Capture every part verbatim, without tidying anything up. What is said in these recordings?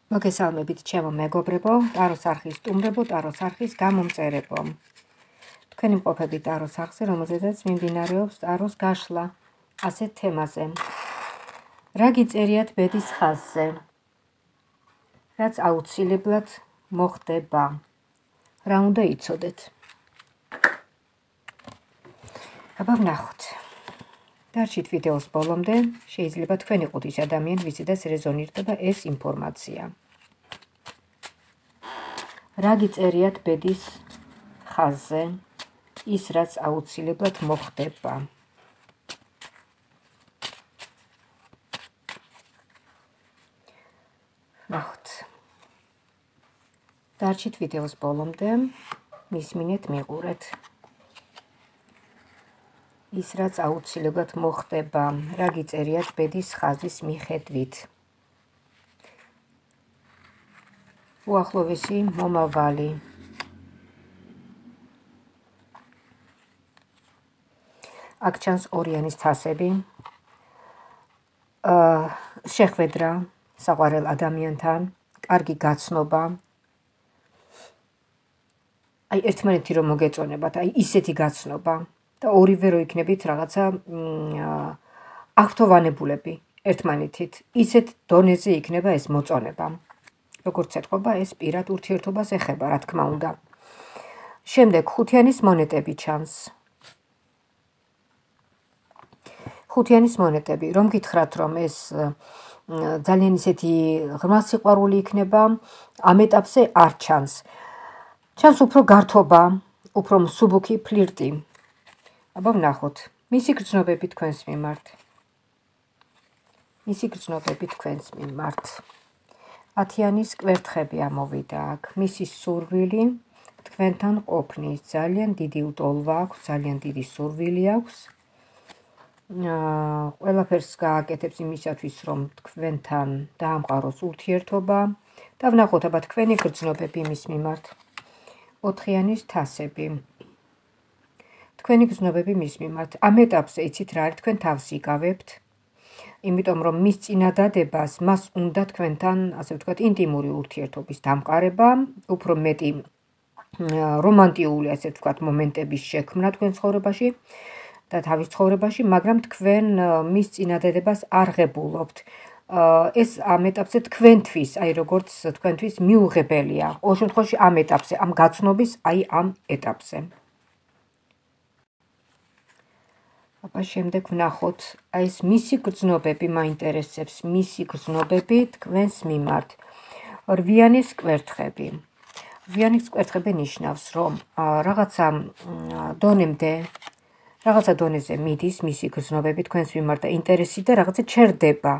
მოგესალმებით ჩემო მეგობრებო, ტაროს არხის სტუმრებო, ტაროს არხის გამომწერებო. თქვენი მყოფები ტაროს არხზე, რომელზედაც მიმდინარეობს ტაროს გაშლა ასეთ თემაზე. რა გიწერიათ ბედის ხაზზე? რაც აუცილებლად მოხდება. რა უნდა იცოდეთ? აბა ვნახოთ. დარჩით ვიდეოს ბოლომდე, შეიძლება თქვენ იყოთ ის ადამიანი, ვისედაც რეზონირდება ეს ინფორმაცია. რა გიწერიათ ბედის ხაზზე? ის რაც აუცილებლად მოხდება. ვნახოთ. დარჩით ვიდეოს ბოლომდე, მისმინეთ, მიყურეთ. ის რაც აუცილებლად მოხდება, რა გიწერიათ ბედის ხაზის მიხედვით. უახლოვესი მომავალი. აქ ჩანს ორიანის თასები. შეხვედრა საყვარელ ადამიანთან, კარგი გაცნობა. აი ერთმანეთი რომ მოგეწონებათ, აი ისეთი გაცნობა. და ორივე რო იქნებით რაღაცა აქტოვანებულები ერთმანეთით. ისეთ დონეზე იქნება ეს მოწონება. როგორც ეთყობა, ეს პირად ურთიერთობას ეხება, რა თქმა უნდა. შემდეგ ხუთიანის მონეტები ჩანს. ხუთიანის მონეტები, რომ გითხრათ, რომ ეს ძალიან ისეთი ღრმა სიყვარული იქნება, ამ ეტაპზე არ ჩანს. ჩანს უფრო გართობა, უფრო მსუბუქი ფლირტი. აბა ვნახოთ. მისი გრძნობები თქვენს მიმართ. მისი გრძნობები თქვენს მიმართ. ათიანის კვერთხები ამოვიდა აქ. მისი სურვილი თქვენთან ყოფნის. ძალიან დიდი უტოლვა აქვს, ძალიან დიდი სურვილი აქვს. ყველაფერს გააკეთებს იმისათვის, რომ თქვენთან დაამყაროს ურთიერთობა. და ვნახოთ, აბა თქვენი გრძნობები მის მიმართ. ოთხიანის თასები. თქვენი გრძნობები მის მიმართ. ამ ეტაპზე იცით რა არის, თქვენ თავს იკავებთ. იმიტომ რომ მის წინადადებას მას უნდა თქვენთან, ასე ვთქვათ, ინტიმური ურთიერთობის დამყარება, უფრო მეტი რომანტიული, ასე ვთქვათ, მომენტების შექმნა თქვენ ცხოვრებაში და თავის ცხოვრებაში, მაგრამ თქვენ მის წინადადებას არ ღებულობთ. ეს ამ ეტაპზე თქვენთვის, აი როგორც თქვენთვის მიუღებელია. ყოველ შემთხვევაში ამ ეტაპზე, ამ გაცნობის, აი ამ ეტაპზე. აბა შემდეგ ვნახოთ, აი ეს მისი გრძნობები მაინტერესებს, მისი გრძნობები თქვენს მიმართ. რვიანის კვერთხები. რვიანის კვერთხები ნიშნავს, რომ რაღაცა დონემდე, რაღაცა დონეზე მიდის მისი გრძნობები თქვენს მიმართ და ინტერესი და რაღაცა ჩერდება.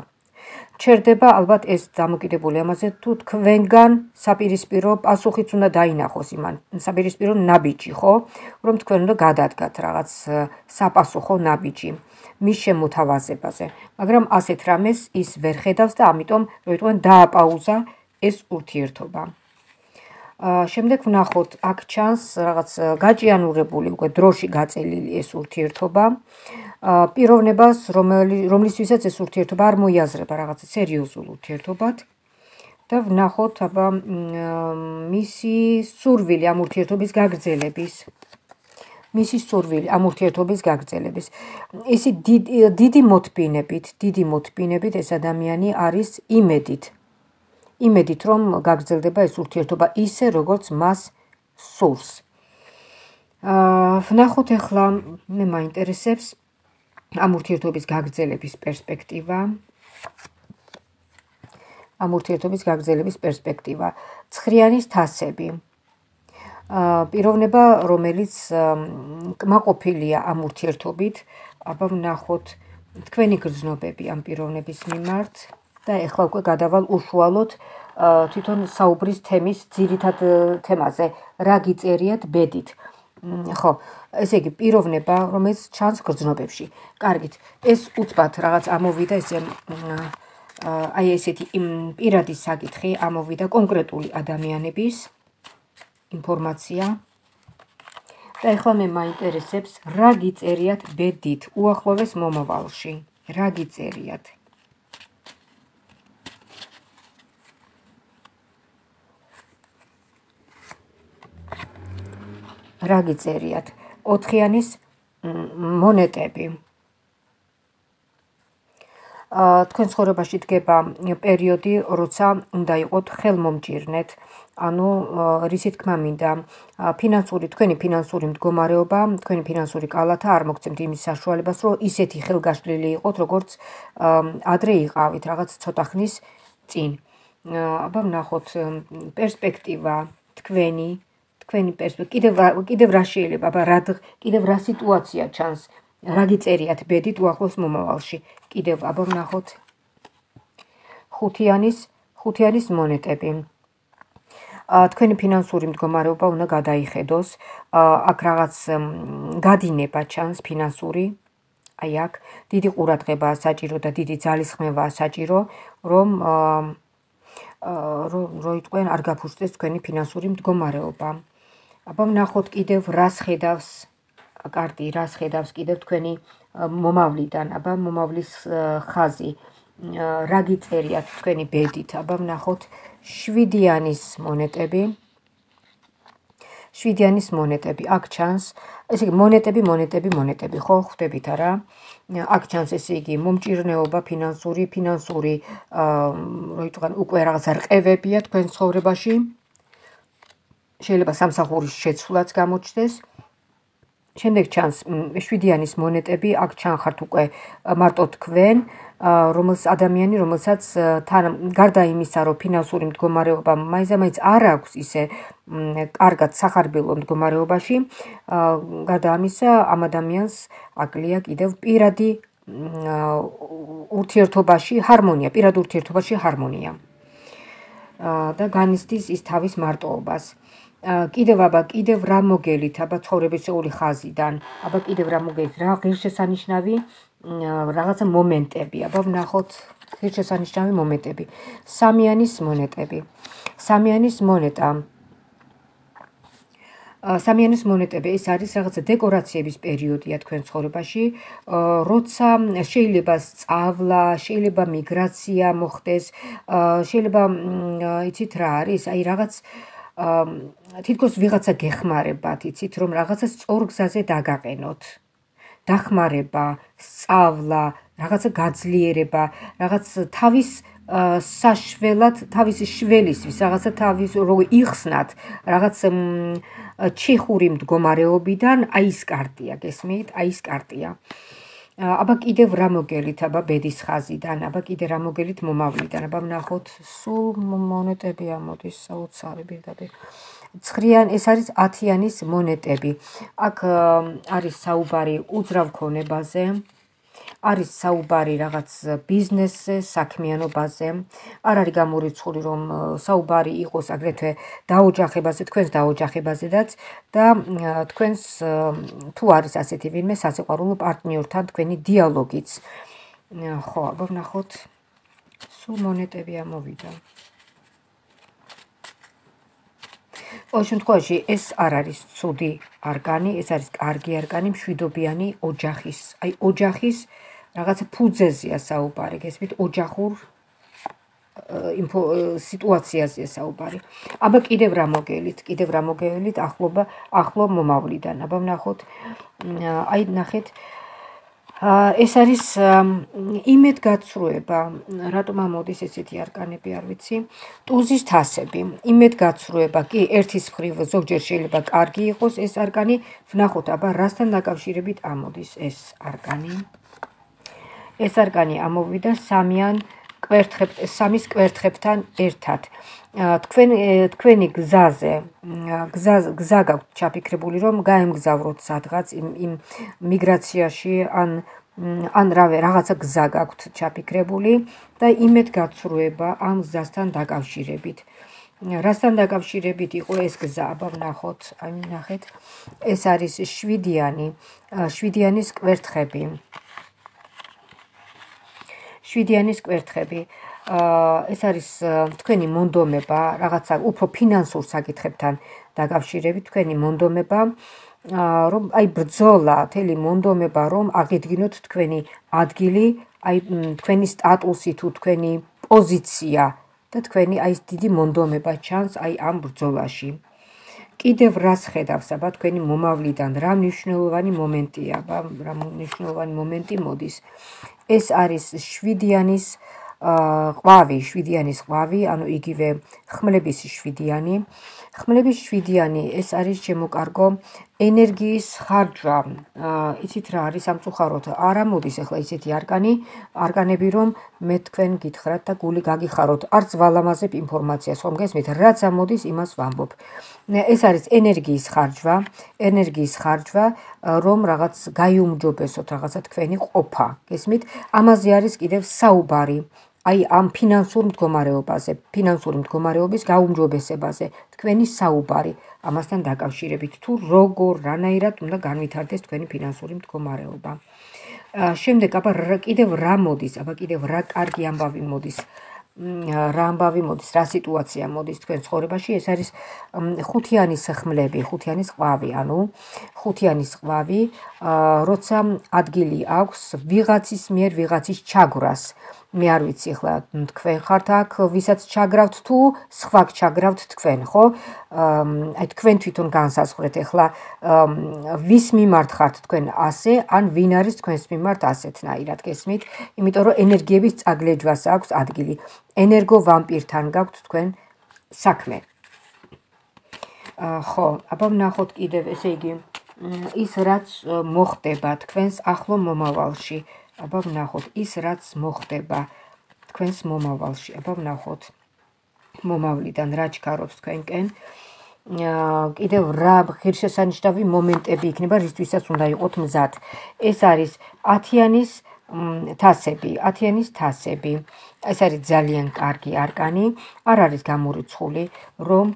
ჩერდება, ალბათ ეს დამოკიდებული ამაზე, თუ თქვენგან საპირისპირო პასუხიც უნდა დაინახოს იმან, საპირისპირო ნაბიჯი, ხო? რომ თქვენ უნდა გადადგათ რაღაც საპასუხო ნაბიჯი მის შემოთავაზებაზე. მაგრამ ასეთ რამეს ის ვერ ხედავს და ამიტომ, რომ იტყვიან, დააპაუზა ეს ურთიერთობა. შემდეგ ვნახოთ, აქ ჩანს რაღაც გაჭიანურებული, უკვე დროში გაწელილი ეს ურთიერთობა. პიროვნებას, რომლისთვისაც ეს ურთიერთობა არ მოიაზრება რაღაცა სერიოზულ ურთიერთობად. და ვნახოთ, აბა მისი სურვილი ამ ურთიერთობის გაგრძელების. მისი სურვილი ამ ურთიერთობის გაგრძელების. ისი დიდი მოთბინებით, დიდი მოთბინებით ეს ადამიანი არის იმედით. იმედით, რომ გაგრძელდება ეს ურთიერთობა ისე, როგორც მას სურს. ვნახოთ ახლა, მე მაინტერესებს ამ ურთიერთობის გაგრძელების პერსპექტივა. ამ ურთიერთობის გაგრძელების პერსპექტივა. ცხრიანის თასები. პიროვნება, რომელიც კმაყოფილია ამ ურთიერთობით, აბა ვნახოთ თქვენი გრძნობები ამ პიროვნების მიმართ და ახლა უკვე გადავალ უშუალოდ თვითონ საუბრის თემის ძირითად თემაზე, რა გიწერიათ ბედით. ხო, ესე იგი პიროვნება, რომელიც ჩანს გრძნობებში. კარგით, ეს უცბად რაღაც ამოვიდა ესე აი ესეთი პირადი საკითხი ამოვიდა კონკრეტული ადამიანების ინფორმაცია. და ახლა მე მაინტერესებს, რა გიწერიათ ბედით უახლოვეს მომავალში. რა გიწერიათ? რა გიწერიათ? ოთხიანის მონეტები. თქვენ ცხოვრებაში დგება პერიოდი, როცა უნდა იყოთ ხელმომჭირნეთ, ანუ რისი თქმა მინდა, ფინანსური თქვენი ფინანსური მდგომარეობა, თქვენი ფინანსური კალათა არ მოგცემთ იმის საშუალებას, რომ ისეთი ხელგაშლილი იყოთ, როგორც ადრე იყავით, რაღაც ცოტა ხნის წინ. აბა ვნახოთ პერსპექტივა თქვენი, თქვენი პერსპექტივა, კიდევ კიდევ რა შეიძლება, აბა რა კიდევ რა სიტუაცია ჩანს, რა გიწერიათ ბედით უახლოს მომავალში. კიდევ აბა ვნახოთ ხუთიანის ხუთიანის მონეტები. თქვენი ფინანსური მდგომარეობა უნდა გადაიხედოს, აქ რაღაც გადინება ჩანს ფინანსური, აი აქ დიდი ყურადღებაა საჭირო და დიდი ძალისხმევაა საჭირო, რომ რო იტყვენ არ გაფუძდეს თქვენი ფინანსური მდგომარეობა. აბა ვნახოთ კიდევ რას ხედავს კარტი, რას ხედავს კიდევ თქვენი მომავლიდან, აბა მომავლის ხაზი, რა გიწერიათ თქვენი ბედით, აბა ვნახოთ შვიდიანის მონეტები. შვიდიანის მონეტები, აქ ჩანს, ესე იგი მონეტები, მონეტები, მონეტები, ხო, ხვდებით არა? აქ ჩანს ესე იგი მომჭირნეობა ფინანსური, ფინანსური, რო იტყვიან უკვე რაღაცა რყევებია თქვენ ცხოვრებაში. შეიძლება სამსახურის შეცვლაც გამოჩნდეს. შემდეგ ჩანს შვიდიანის მონეტები, აქ ჩანხართ უკვე მარტო თქვენ, რომელს ადამიანი, რომელსაც თან გარდა იმისა, რომ ფინანსური მდგომარეობა მაინც არ აქვს ისე კარგად სახარბილო მდგომარეობაში, გარდა ამისა, ამ ადამიანს აკლია კიდევ პირადი ურთიერთობაში ჰარმონია, პირად ურთიერთობაში ჰარმონია. და განიცდის ის თავის მარტოობას. კიდევ აბა კიდევ რა მოგელით, აბა ცხოვრებისეული ხაზიდან, აბა კიდევ რა მოგელით, რა ღირსშესანიშნავი რაღაცა მომენტები, აბა ვნახოთ ღირსშესანიშნავი მომენტები. სამიანის მონეტები. სამიანის მონეტა. სამიანის მონეტები ეს არის რაღაცა დეკორაციების პერიოდია თქვენ ცხოვრებაში, როცა შეიძლება სწავლა, შეიძლება მიგრაცია მოხდეს, შეიძლება იცით რა არის, აი რაღაც თითქოს ვიღაცა გეხმარებათ, იცით რომ რაღაცა სწორ გზაზე დაგაყენოთ. დახმარება, სწავლა, რაღაცა გაძლიერება, რაღაც თავის საშველად, თავის შველისთვის, რაღაცა თავის რო იხსნათ, რაღაც ჩიხური მდგომარეობიდან, აი ეს კარტია, გესმით? აი ეს კარტია. აბა კიდევ რა მოგელით, აბა ბედის ხაზიდან, აბა კიდე რა მოგელით მომავლიდან, აბა ვნახოთ სულ მონეტები ამოდის საოცარი პირდაპირ. ცხრიან ეს არის ათიანის მონეტები. აქ არის საუბარი უძრავ ქონებაზე, არის საუბარი რაღაც ბიზნესზე, საქმიანობაზე. არ არის გამორიცხული რომ საუბარი იყოს აგრეთვე დაოჯახებაზე, თქვენს დაოჯახებაზედაც და თქვენს თუ არის ასეთი ვინმე სასიყვარულო პარტნიორთან თქვენი დიალოგიც. ხო, აბა ვნახოთ სულ მონეტები ამოვიდა. ყოველ შემთხვევაში ეს არ არის ცუდი არკანი, ეს არის კარგი არკანი, მშვიდობიანი ოჯახის, აი ოჯახის რაღაცა ფუძეზეა საუბარი, გესმით, ოჯახურ სიტუაციაზეა საუბარი. აბა კიდევ რა მოგელით, კიდევ რა მოგელით ახლობა, ახლო მომავლიდან. აბა ვნახოთ, აი ნახეთ, ეს არის იმედგაცრუება, რატომ ამოდის ესეთი არკანები, არ ვიცი. ტუზის თასები, იმედგაცრუება, კი ერთის მხრივ ზოგჯერ შეიძლება კარგი იყოს ეს არკანი, ვნახოთ, აბა რასთან დაკავშირებით ამოდის ეს არკანი. ეს არკანი ამოვიდა სამიან კვერთხებ, სამის კვერთხებთან ერთად. თქვენ თქვენი გზაზე, გზა გაქვთ ჩაფიქრებული, რომ გაემგზავროთ სადღაც იმ მიგრაციაში ან ან რავე, რაღაცა გზა გაქვთ ჩაფიქრებული და იმედგაცრუება ამ გზასთან დაკავშირებით. რასთან დაკავშირებით იყო ეს გზა, აბა ვნახოთ, აი ნახეთ, ეს არის შვიდიანი, შვიდიანის კვერთხები. შვიდიანის კვერთხები. ეს არის თქვენი მონდომება, რაღაცა უფრო ფინანსურ საკითხებთან დაკავშირებით, თქვენი მონდომება, რომ აი ბრძოლა, თელი მონდომება, რომ აღიდგინოთ თქვენი ადგილი, აი თქვენი სტატუსი თუ თქვენი პოზიცია და თქვენი აი ეს დიდი მონდომება ჩანს აი ამ ბრძოლაში. კიდევ რას ხედავს აბა თქვენი მომავლიდან, რა მნიშვნელოვანი მომენტია, აბა რა მნიშვნელოვანი მომენტი მოდის. ეს არის შვიდიანის ყვავი, შვიდიანის ყვავი, ანუ იგივე ხმლების შვიდიანი. ხმლების შვიდიანი ეს არის შემოკარგო ენერგიის ხარჯვა. იცით რა არის სამწუხაროდ არ ამოდის ახლა ისეთი არკანი, არკანები რომ მე თქვენ გითხრათ და გული გაგიხაროთ, არც ვალამაზებ ინფორმაციას, ხომ გესმით, რაც ამოდის იმას ვამბობ. ეს არის ენერგიის ხარჯვა, ენერგიის ხარჯვა, რომ რაღაც გაიუმჯობესოთ რაღაცა თქვენი ყოფა, გესმით? ამაზე არის კიდევ საუბარი. აი ამ ფინანსურ მდგომარეობაზე, ფინანსური მდგომარეობის გაუმჯობესებაზე, თქვენი საუბარი ამასთან დაკავშირებით, თუ როგორ, რანაირად უნდა განვითარდეს თქვენი ფინანსური მდგომარეობა. შემდეგ აბა კიდევ რა მოდის, აბა კიდევ რა კარგი ამბავი მოდის, რა ამბავი მოდის, რა სიტუაცია მოდის თქვენ ცხოვრებაში, ეს არის ხუთიანის ხმლები, ხუთიანის ყვავი, ანუ ხუთიანის ყვავი, როცა ადგილი აქვს ვიღაცის მიერ ვიღაცის ჩაგვრას. მე არ ვიცი ახლა თქვენ ხართ აქ ვისაც ჩაგრავთ თუ სხვა ჩაგრავთ თქვენ, ხო? აი თქვენ თვითონ განსაზღვრეთ ახლა ვის მიმართ ხართ თქვენ ასე, ან ვინ არის თქვენს მიმართ ასეთნაირად, გესმით? იმიტომ რომ ენერგიების წაგლეჯვას აქვს ადგილი. ენერგო ვამპირთან გაქვთ თქვენ საქმე. ხო, აბა ვნახოთ კიდევ, ესე იგი, ის რაც მოხდება თქვენს ახლო მომავალში. აბა ვნახოთ ის რაც მოხდება თქვენს მომავალში. აბა ვნახოთ მომავლიდან რა ჩქარობს თქვენკენ. კიდევ რა ღირსშესანიშნავი მომენტები იქნება, რისთვისაც უნდა იყოთ მზად. ეს არის ათიანის თასები, ათიანის თასები. ეს არის ძალიან კარგი არკანი, არ არის გამორიცხული, რომ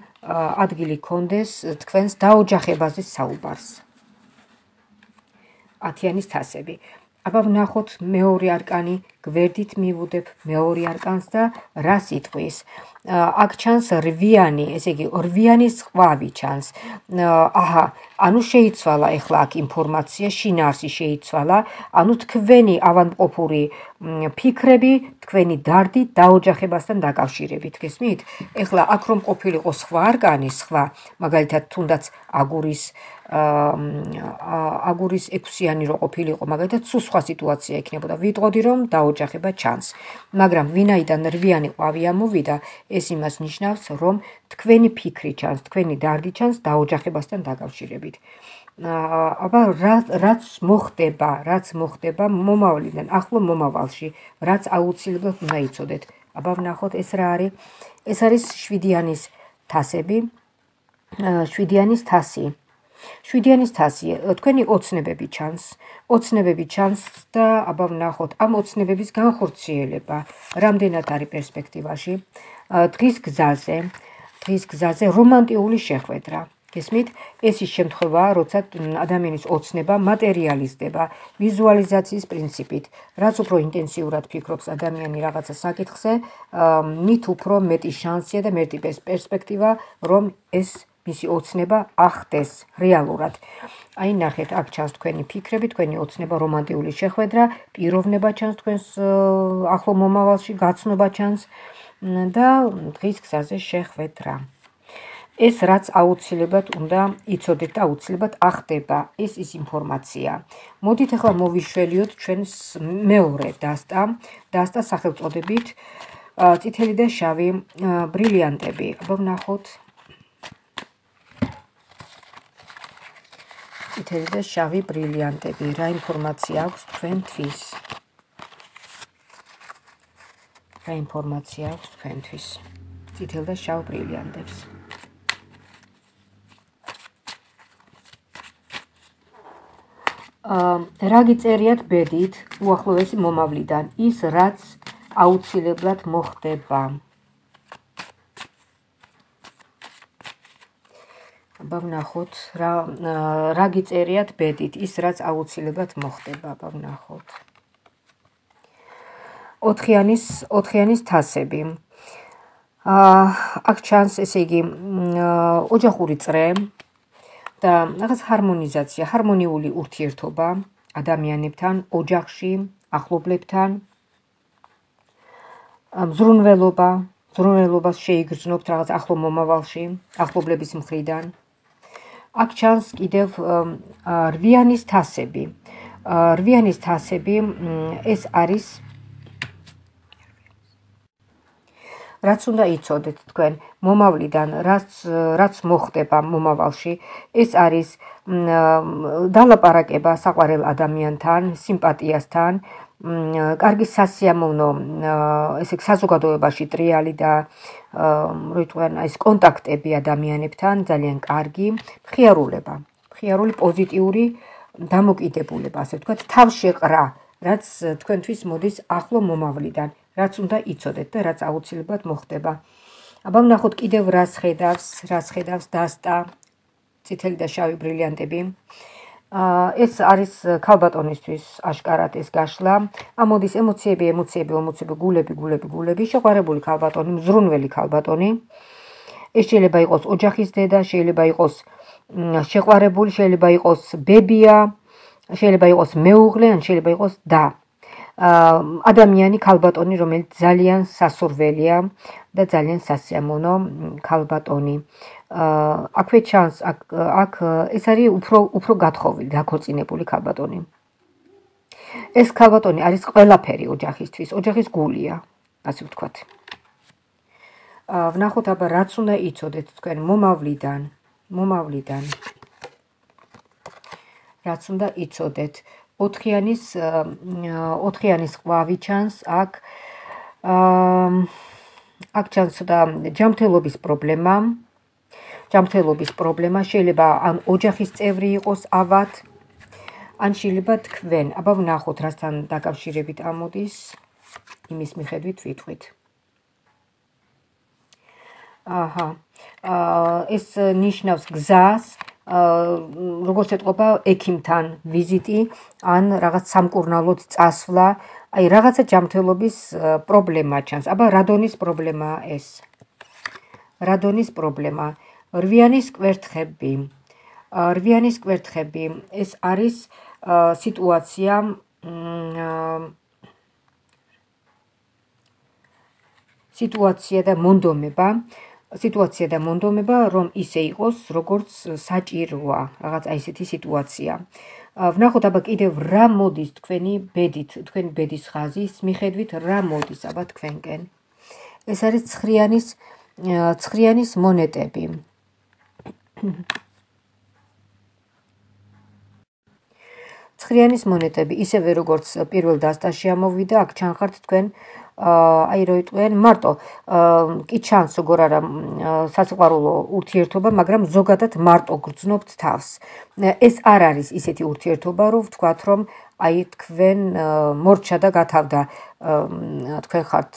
ადგილი კონდეს თქვენს დაოჯახებაზე საუბარს. ათიანის თასები. აბა ვნახოთ მეორე არკანი, გვერდით მივუდებ მეორე არკანს და რას იტყვის. აქ ჩანს რვიანი, ესე იგი რვიანის ყვავი ჩანს. აჰა, ანუ შეიცვალა ახლა აქ ინფორმაცია, შინაარსი შეიცვალა, ანუ თქვენი ავადმყოფური ფიქრები, თქვენი დარდი დაოჯახებასთან დაკავშირებით, გესმით? ეხლა აქ რომ ყოფილიყო სხვა არკანი, სხვა, მაგალითად თუნდაც აგურის აგურის ექვსიანი რო ყოფილიყო, მაგალითად სულ სხვა სიტუაცია იქნებოდა. ვიტყოდი რომ დაოჯახება ჩანს. მაგრამ ვინაიდან რვიანი ყვავი ამოვიდა, ეს იმას ნიშნავს, რომ თქვენი ფიქრი ჩანს, თქვენი დარდი ჩანს დაოჯახებასთან დაკავშირებით. აბა რაც მოხდება, რაც მოხდება მომავლიდან, ახლო მომავალში, რაც აუცილებლად უნდა იცოდეთ. აბა ვნახოთ ეს რა არის? ეს არის შვიდიანის თასები, შვიდიანის თასი. შვიდიანის თასი, თქვენი ოცნებები ჩანს, ოცნებები ჩანს და აბა ვნახოთ ამ ოცნებების განხორციელება, რამდენად არის პერსპექტივაში, დღის გზაზე, დღის გზაზე რომანტიული შეხვედრა. გესმით? ეს ის შემთხვევაა, როცა ადამიანის ოცნება მატერიალიზდება ვიზუალიზაციის პრინციპით. რაც უფრო ინტენსიურად ფიქრობს ადამიანი რაღაცა საკითხზე, მით უფრო მეტი შანსია და მეტი პერსპექტივა, რომ ეს მისი ოცნება ახდეს რეალურად. აი ნახეთ, აქ ჩანს თქვენი ფიქრები, თქვენი ოცნება, რომანტიული შეხვედრა, პიროვნება ჩანს თქვენს ახლო მომავალში, გაცნობა ჩანს და დღის გზაზე შეხვედრა. ეს რაც აუცილებლად უნდა იცოდეთ და აუცილებლად ახდება, ეს ის ინფორმაცია. მოდით ახლა მოვიშველიოთ ჩვენს მეორე დასტა, დასტა სახელწოდებით წითელი და შავი ბრილიანტები. აბა ვნახოთ წითელი და შავი ბრილიანტები, რა ინფორმაცია აქვს თქვენთვის? რა ინფორმაცია აქვს თქვენთვის? წითელ და შავ ბრილიანტებს. რა გიწერიათ ბედით უახლოესი მომავლიდან, ის რაც აუცილებლად მოხდება. აბა ვნახოთ, რა რა გიწერიათ ბედით, ის რაც აუცილებლად მოხდება, აბა ვნახოთ. ოთხიანის ოთხიანის თასები. აქ ჩანს, ესე იგი, ოჯახური წრე და რაღაც ჰარმონიზაცია, ჰარმონიული ურთიერთობა ადამიანებთან, ოჯახში, ახლობლებთან, მზრუნველობა, მზრუნველობას შეიგრძნობთ რაღაც ახლო მომავალში, ახლობლების მხრიდან. აქ ჩანს კიდევ რვიანის თასები. რვიანის თასები ეს არის რაც უნდა იცოდეთ თქვენ მომავლიდან, რაც რაც მოხდება მომავალში, ეს არის დალაპარაკება საყვარელ ადამიანთან, სიმპათიასთან, კარგი სასიამოვნო, ესე საზოგადოებაში ტრიალი და რო იტყვიან ეს კონტაქტები ადამიანებთან, ძალიან კარგი, მხიარულება, მხიარული პოზიტიური დამოკიდებულება, ასე ვთქვათ, თავშეყრა, რაც თქვენთვის მოდის ახლო მომავლიდან, რაც უნდა იცოდეთ და რაც აუცილებლად მოხდება. აბა ვნახოთ კიდევ რას ხედავს, რას ხედავს დასტა, წითელი და შავი ბრილიანტები. ეს არის ქალბატონისთვის აშკარად ეს გაშლა. ამოდის ემოციები, ემოციები, ემოციები, გულები, გულები, გულები, შეყვარებული ქალბატონი, მზრუნველი ქალბატონი. ეს შეიძლება იყოს ოჯახის დედა, შეიძლება იყოს შეყვარებული, შეიძლება იყოს ბებია, შეიძლება იყოს მეუღლე, ან შეიძლება იყოს და. ადამიანი ქალბატონი, რომელიც ძალიან სასურველია და ძალიან სასიამოვნო ქალბატონი. აქვე ჩანს, აქ ეს არის უფრო უფრო გათხოვილი, დაქორწინებული ქალბატონი. ეს ქალბატონი არის ყველაფერი ოჯახისთვის, ოჯახის გულია, ასე ვთქვათ. ვნახოთ აბა რაც უნდა იცოდეთ თქვენ მომავლიდან, მომავლიდან. რაც უნდა იცოდეთ. ოთხიანის ოთხიანის ყვავი ჩანს აქ. აქ ჩანს და ჯანმრთელობის პრობლემა. ჯანმრთელობის პრობლემა შეიძლება ან ოჯახის წევრი იყოს ავად, ან შეიძლება თქვენ. აბა ვნახოთ რასთან დაკავშირებით ამოდის, იმის მიხედვით ვიტყვით. აჰა. ეს ნიშნავს გზას, როგორც ეთყობა ექიმთან ვიზიტი, ან რაღაც სამკურნალოდ წასვლა, აი რაღაცა ჯანმრთელობის პრობლემა ჩანს. აბა რადონის პრობლემაა ეს? რადონის პრობლემა? რვიანის კვერთხები. რვიანის კვერთხები, ეს არის სიტუაცია სიტუაცია და მონდომება, სიტუაცია და მონდომება, რომ ისე იყოს, როგორც საჭიროა, რაღაც აი ესეთი სიტუაცია. ვნახოთ აბა კიდევ რა მოდის თქვენი ბედით, თქვენი ბედის ხაზის მიხედვით რა მოდის აბა თქვენკენ. ეს არის ცხრიანის ცხრიანის მონეტები. ცხრიანის მონეტები, ისევე როგორც პირველ დასტაში ამოვიდა, აქ ჩანხართ თქვენ აი რო იტყვიან მარტო კი ჩანს როგორ არა სასიყვარულო ურთიერთობა, მაგრამ ზოგადად მარტო გრძნობთ თავს. ეს არ არის ისეთი ურთიერთობა, რომ ვთქვათ, რომ აი თქვენ მორჩა და გათავდა, თქვენ ხართ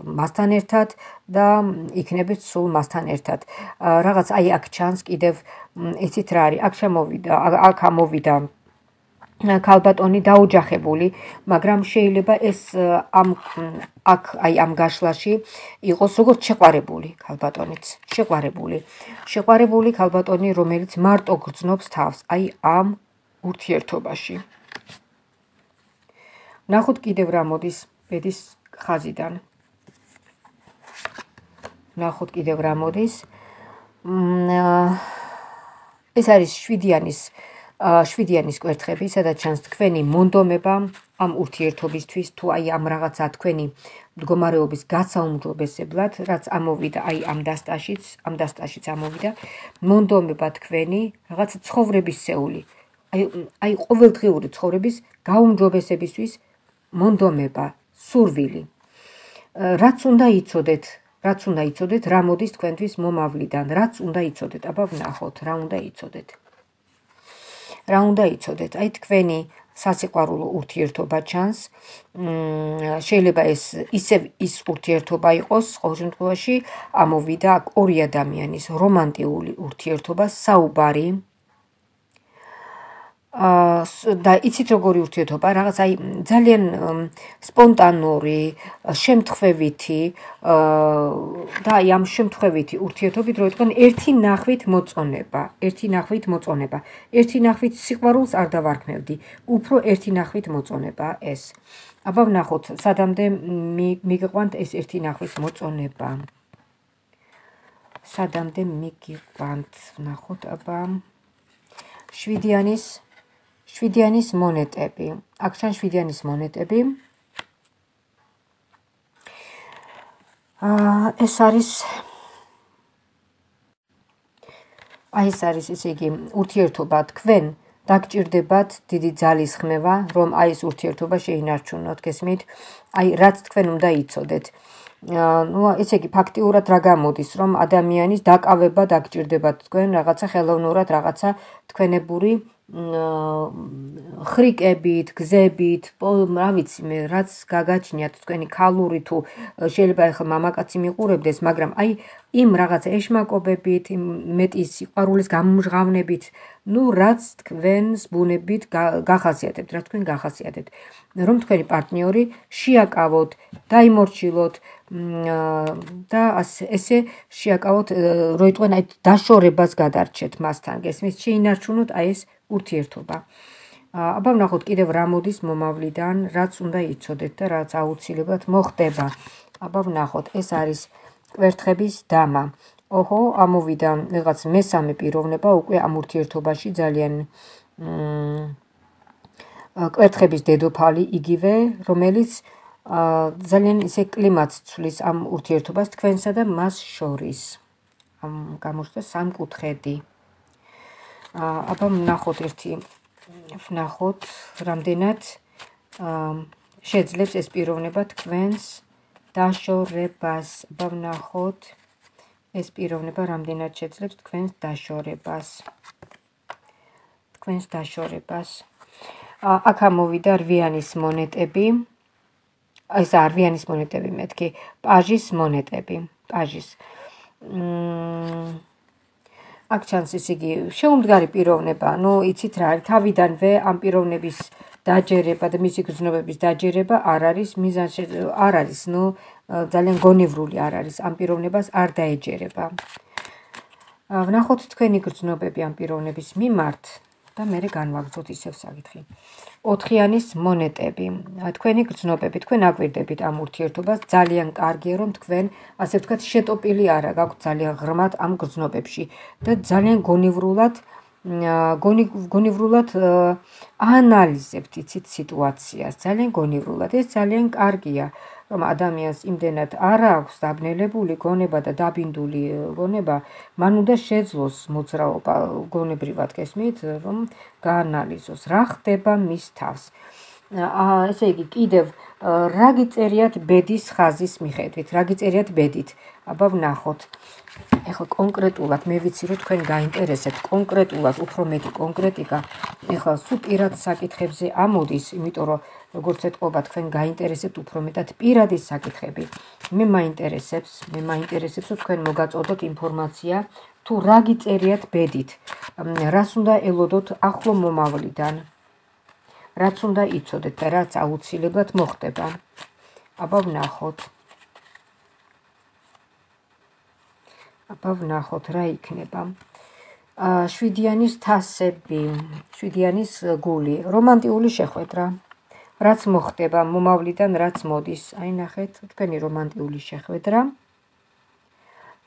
მასთან ერთად და იქნებით სულ მასთან ერთად. რაღაც აი აქ ჩანს კიდევ იცით რა არის, აქ შემოვიდა, აქ ამოვიდა ქალბატონი დაოჯახებული, მაგრამ შეიძლება ეს ამ აქ აი ამ გაშლაში იყოს როგორც შეყვარებული ქალბატონიც, შეყვარებული. შეყვარებული ქალბატონი, რომელიც მარტო გრძნობს თავს, აი ამ ურთიერთობაში. ვნახოთ კიდევ რა მოდის ბედის ხაზიდან. ვნახოთ კიდევ რა მოდის. ეს არის შვიდიანის შვიდიანის კვერთხები, სადაც ჩანს თქვენი მონდომება ამ ურთიერთობისთვის, თუ აი ამ რაღაცა თქვენი მდგომარეობის გასაუმჯობესებლად, რაც ამოვიდა აი ამ დასტაშიც, ამ დასტაშიც ამოვიდა, მონდომება თქვენი რაღაც ცხოვრებისეული, აი აი ყოველდღიური ცხოვრების გაუმჯობესებისთვის მონდომება, სურვილი. რაც უნდა იცოდეთ, რაც უნდა იცოდეთ, რა მოდის თქვენთვის მომავლიდან, რაც უნდა იცოდეთ, აბა ვნახოთ, რა უნდა იცოდეთ. რა უნდა იცოდეთ, აი თქვენი სასიყვარულო ურთიერთობა ჩანს, შეიძლება ეს ისევ ის ურთიერთობა იყოს, ყოველ შემთხვევაში ამოვიდა აქ ორი ადამიანის რომანტიკული ურთიერთობა, საუბარი და იცით როგორი ურთიერთობა, რაღაც აი ძალიან სპონტანური, შემთხვევითი და აი ამ შემთხვევითი ურთიერთობით რო იტყვიან ერთი ნახვით მოწონება, ერთი ნახვით მოწონება. ერთი ნახვით სიყვარულს არ დავარქმევდი, უფრო ერთი ნახვით მოწონება ეს. აბა ვნახოთ, სადამდე მიგიყვანთ ეს ერთი ნახვით მოწონება. სადამდე მიგიყვანთ, ვნახოთ აბა შვიდიანის შვიდიანის მონეტები. აქ ჩანს შვიდიანის მონეტები. ეს არის აი ეს არის ესე იგი ურთიერთობა თქვენ დაგჭირდებათ დიდი ძალის ხმევა, რომ აი ეს ურთიერთობა შეინარჩუნოთ, გესმით? აი რაც თქვენ უნდა იცოდეთ. ნუ ესე იგი ფაქტიურად რა გამოდის, რომ ადამიანის დაკავება დაგჭირდებათ თქვენ რაღაცა ხელოვნურად, რაღაცა თქვენებური ხრიკებით, გზებით, რა ვიცი მე, რაც გაგაჩნიათ თქვენი ქალური თუ შეიძლება ახლა მამაკაცი მიყურებდეს, მაგრამ აი იმ რაღაცა ეშმაკობებით, იმ მეტი სიყვარულის გამჟღავნებით, ნუ რაც თქვენს ბუნებით გახასიათებთ, რაც თქვენ გახასიათებთ, რომ თქვენი პარტნიორი შეაკავოთ, დაიმორჩილოთ და ესე შეაკავოთ, როიტყვენ აი დაშორებას გადარჩეთ მასთან, გესმის, შეინარჩუნოთ აი ეს ურთიერთობა. აბა ვნახოთ კიდევ რა მოდის მომავლიდან, რაც უნდა იცოდეთ და რაც აუცილებლად მოხდება. აბა ვნახოთ, ეს არის კვერთხების დამა. ოჰო, ამოვიდა რაღაც მესამე პიროვნება უკვე ამ ურთიერთობაში ძალიან კვერთხების დედოფალი იგივე, რომელიც ძალიან ისე კლიმატს ცვლის ამ ურთიერთობას თქვენსა და მას შორის. ამ გამოჩნდა სამკუთხედი. აბა ვნახოთ ერთი ვნახოთ რამდენად შეძლებს ეს პიროვნება თქვენს დაშორებას. აბა ვნახოთ ეს პიროვნება რამდენად შეძლებს თქვენს დაშორებას. თქვენს დაშორებას. აქ ამოვიდა რვიანის მონეტები. ეს რვიანის მონეტები მეთქი, პაჟის მონეტები, პაჟის. აქ ჩანს ისე იგი შეუმდგარი პიროვნება, ნუ იცით რა არის, თავიდანვე ამ პიროვნების დაჯერება და მისი გრძნობების დაჯერება არ არის მიზანში, არ არის, ნუ ძალიან გონივრული არ არის, ამ პიროვნებას არ დაეჯერება. ვნახოთ თქვენი გრძნობები ამ პიროვნების მიმართ და მერე განვაგრძოთ ისევ საკითხი. ოთხიანის მონეტები. თქვენი გრძნობები, თქვენ აკვირდებით ამ ურთიერთობას, ძალიან კარგია, რომ თქვენ, ასე ვთქვათ, შეტოპილი არა გაქვთ ძალიან ღრმად ამ გრძნობებში და ძალიან გონივრულად გონივრულად აანალიზებთ იცით სიტუაციას, ძალიან გონივრულად. ეს ძალიან კარგია, რომ ადამიანს იმდენად არ აქვს დაბნელებული გონება და დაბინდული გონება, მან უნდა შეძლოს მოძრაობა გონებრივად, გესმით, რომ გაანალიზოს, რა ხდება მის თავს. ესე იგი, კიდევ რა გიწერიათ ბედის ხაზის მიხედვით, რა გიწერიათ ბედით. აბა ვნახოთ. ეხლა კონკრეტულად მე ვიცი, რომ თქვენ გაინტერესებთ კონკრეტულად, უფრო მეტი კონკრეტიკა. ეხლა სულ პირად საკითხებზე ამოდის, იმიტომ რომ როგორც ეთყობა თქვენ გაინტერესებთ უფრო მეტად პირადი საკითხები. მე მაინტერესებს, მე მაინტერესებს, რომ თქვენ მოგაწოდოთ ინფორმაცია, თუ რა გიწერიათ ბედით, რას უნდა ელოდოთ ახლო მომავლიდან, რაც უნდა იცოდეთ და რაც აუცილებლად მოხდება. აბა ვნახოთ. აბა ვნახოთ რა იქნება. შვიდიანის თასები, შვიდიანის გული, რომანტიული შეხვედრა. რაც მოხდება მომავლიდან, რაც მოდის. აი ნახეთ, თქვენი რომანტიული შეხვედრა.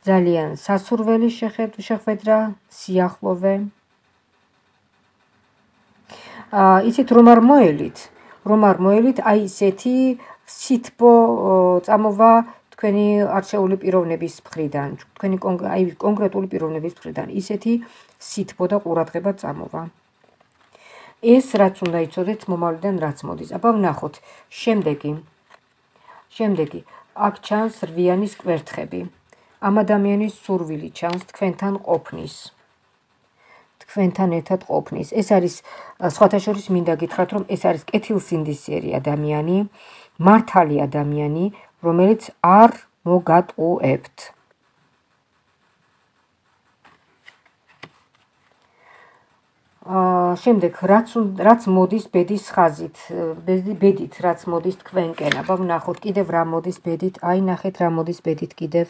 ძალიან სასურველი შეხვედრა, სიახლოვე. იცით რომ არ მოელით, რომ არ მოელით, აი ესეთი სითბო წამოვა თქვენი არჩეული პიროვნების მხრიდან, თქვენი აი კონკრეტული პიროვნების მხრიდან, ისეთი სითბო და ყურადღება წამოვა. ეს რაც უნდა იცოდეთ მომავლიდან რაც მოდის. აბა ვნახოთ. შემდეგი. შემდეგი. აქ ჩანს რვიანის კვერთხები. ამ ადამიანის სურვილი ჩანს თქვენთან ყოფნის. თქვენთან ერთად ყოფნის. ეს არის სხვათა შორის მინდა გითხრათ, რომ ეს არის კეთილსინდისიერი ადამიანი, მართალი ადამიანი, რომელიც არ მოგატყუებთ. შემდეგ რაც რაც მოდის ბედის ხაზით, ბედით რაც მოდის თქვენკენ. აბა ვნახოთ კიდევ რა მოდის ბედით. აი ნახეთ რა მოდის ბედით კიდევ.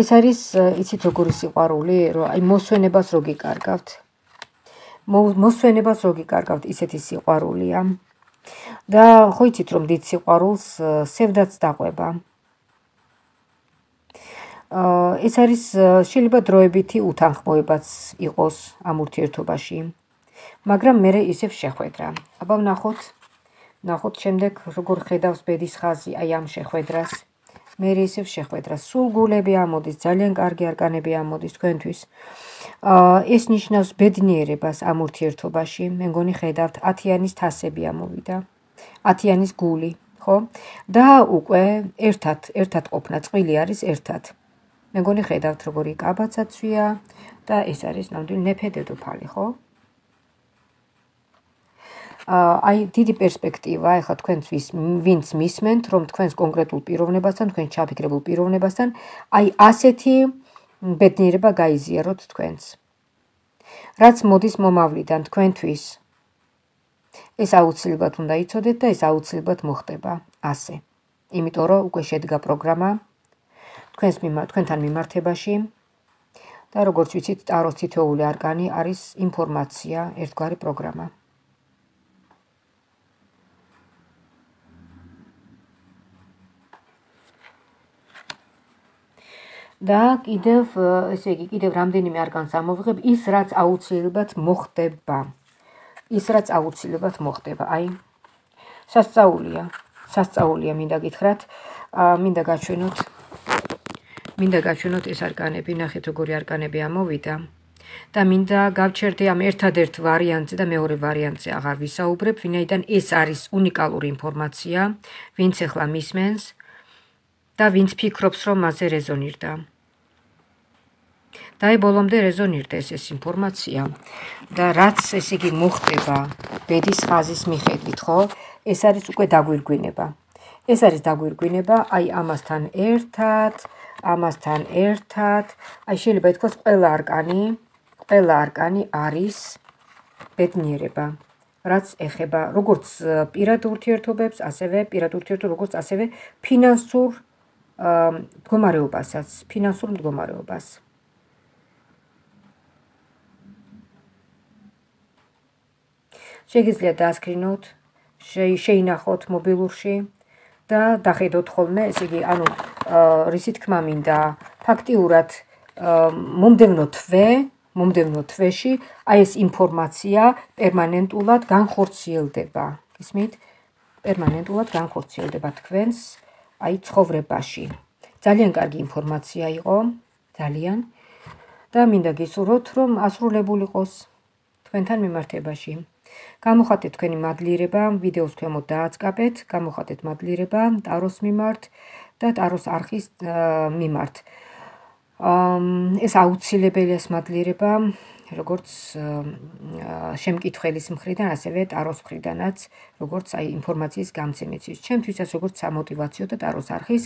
ეს არის იცით როგორი სიყვარული, რომ აი მოსვენებას რო გიკარგავთ. მოსვენებას რო გიკარგავთ, ისეთი სიყვარულია. და ხო იცით რომ დიდ სიყვარულს სევდაც დაყვება. ეს არის შეიძლება დროებითი უთანხმოებაც იყოს ამ ურთიერთობაში, მაგრამ მე ისევ შეხვედრა. აბა ვნახოთ, ვნახოთ შემდეგ როგორ ხედავს ბედის ხაზი აი ამ შეხვედრას. მე ისევ შეხვედრა. სულ გულები ამოდის, ძალიან კარგი არკანები ამოდის თქვენთვის. ეს ნიშნავს ბედნიერებას ამ ურთიერთობაში. მე მგონი ხედავთ ათიანის თასები ამოვიდა. ათიანის გული, ხო? და უკვე ერთად, ერთად ყოფნა, წყვილი არის ერთად. მე მგონი ხედავთ როგორი კაბაცაცვია და ეს არის ნამდვილი ნეფე დედოფალი, ხო? აი დიდი პერსპექტივა ეხლა თქვენთვის ვინც მისმენთ, რომ თქვენს კონკრეტულ პიროვნებასთან, თქვენ ჩაფიქრებულ პიროვნებასთან, აი ასეთი ბედნიერება გაიზიაროთ თქვენს. რაც მოდის მომავლიდან თქვენთვის, ეს აუცილებლად უნდა იცოდეთ და ეს აუცილებლად მოხდება ასე. იმიტომ რომ უკვე შედგა პროგრამა თქვენს მიმართ, თქვენთან მიმართებაში და როგორც ვიცით, ტაროს თითოეული არკანი არის ინფორმაცია, ერთგვარი პროგრამა. და კიდევ, ესე იგი, კიდევ რამდენიმე არკანს ამოვიღებ, ის რაც აუცილებლად მოხდება. ის რაც აუცილებლად მოხდება. აი, სასწაულია, სასწაულია მინდა გითხრათ, მინდა გაჩვენოთ, მინდა გაჩვენოთ ეს არკანები, ნახეთ როგორი არკანები ამოვიდა. და მინდა გავჩერდე ამ ერთადერთ ვარიანტზე და მეორე ვარიანტზე აღარ ვისაუბრებ, ვინაიდან ეს არის უნიკალური ინფორმაცია, ვინც ახლა მისმენს და ვინც ფიქრობს, რომ მასზე რეზონირდა. და აი ბოლომდე რეზონირდეს ეს ინფორმაცია და რაც ესე იგი მოხდება ბედის ხაზის მიხედვით, ხო? ეს არის უკვე დაგვირგვინება. ეს არის დაგვირგვინება, აი ამასთან ერთად, ამასთან ერთად, აი შეიძლება ითქვას ყველა არკანი, ყველა არკანი არის ბედნიერება, რაც ეხება როგორც პირად ურთიერთობებს, ასევე პირად ურთიერთობებს, როგორც ასევე ფინანსურ მდგომარეობასაც, ფინანსურ მდგომარეობას. შეგიძლიათ დაასკრინოთ, შეინახოთ მობილურში და დახედოთ ხოლმე, ესე იგი, ანუ რისი თქმა მინდა, ფაქტიურად მომდევნო თვე, მომდევნო თვეში, აი ეს ინფორმაცია პერმანენტულად განხორციელდება. გისმით? პერმანენტულად განხორციელდება თქვენს აი ცხოვრებაში. ძალიან კარგი ინფორმაცია იყო, ძალიან და მინდა გისურვოთ, რომ ასრულებული იყოს თქვენთან მიმართებაში. გამოხატეთ თქვენი მადლიერება, ვიდეოს ქვემოთ დააწყაბეთ, გამოხატეთ მადლიერება ტაროს მიმართ და ტაროს არხის მიმართ. ეს აუცილებელია ეს მადლიერება, როგორც შემკითხველის მხრიდან, ასევე ტაროს მხრიდანაც, როგორც აი ინფორმაციის გამცემისთვის. ჩემთვისაც როგორც სამოტივაციო და ტაროს არხის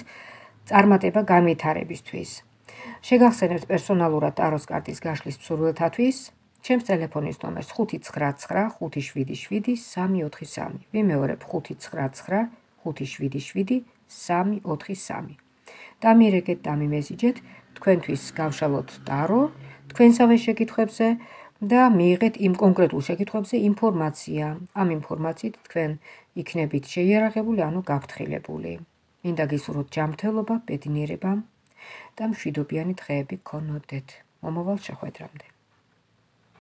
წარმატება განვითარებისთვის. შეგახსენებთ პერსონალურად ტაროს კარტის გაშლის მსურველთათვის. ჩემს ტელეფონის ნომერს ხუთი ცხრა ცხრა ხუთი შვიდი შვიდი სამი ოთხი სამი. ვიმეორებ ხუთი ცხრა ცხრა ხუთი შვიდი შვიდი სამი ოთხი სამი. დამირეკეთ, დამიმესიჯეთ, თქვენთვის გავშალოთ ტარო, თქვენსავე შეკითხვებზე და მიიღეთ იმ კონკრეტულ შეკითხვებზე ინფორმაცია. ამ ინფორმაციით თქვენ იქნებით შეიარაღებული, ანუ გაფრთხილებული. მინდა გისურვოთ ჯანმრთელობა, ბედნიერება და მშვიდობიანი დღეები გქონოდეთ. მომავალ შეხვედრამდე.